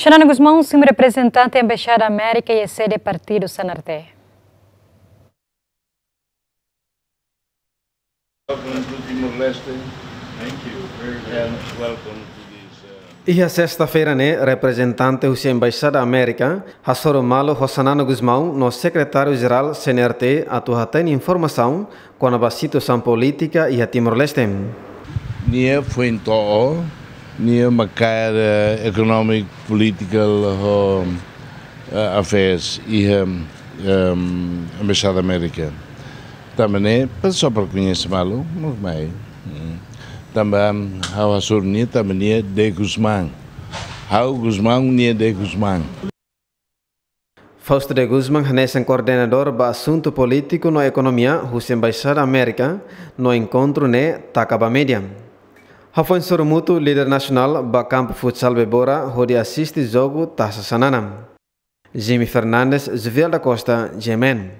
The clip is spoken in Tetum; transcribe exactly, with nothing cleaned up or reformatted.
Xanana Gusmão, simu reprezentante Embaixada Amérika iha sede partidu C N R T. Welcome to Timor-Leste. Thank you very, very much. And welcome to this, uh, Iha sesta-feira ne'e, reprezentante husi Embaixada Amérika hasoru malu ho Xanana Gusmão no Sekretáriu-Jerál C N R T atu hatene informasaun kona-ba situasaun polítika iha Timor-Leste. Nia foin to'o, nia mak kaer, eh, economic, political ho, eh, affairs iha, em, Embaixada Amérika. Tanba ne'e, para só para koñese malu, mak mai. Hmm. Tanba, ha'u hasoru nia, tanba nia de Gusmão. Ha'u Gusmão, nia de Gusmão. Fausto de Gusmão hanesan koordenadór ba asuntu polítiku no ekonomia husi Embaixada Amérika, no enkontru ne'e taka ba média. Hafoin sorumutu líder nasionál ba kampu futsal Bebora hodi asiste jogu Tasa Xanana. Jimmy Fernandes, Juviel da Costa, G M N.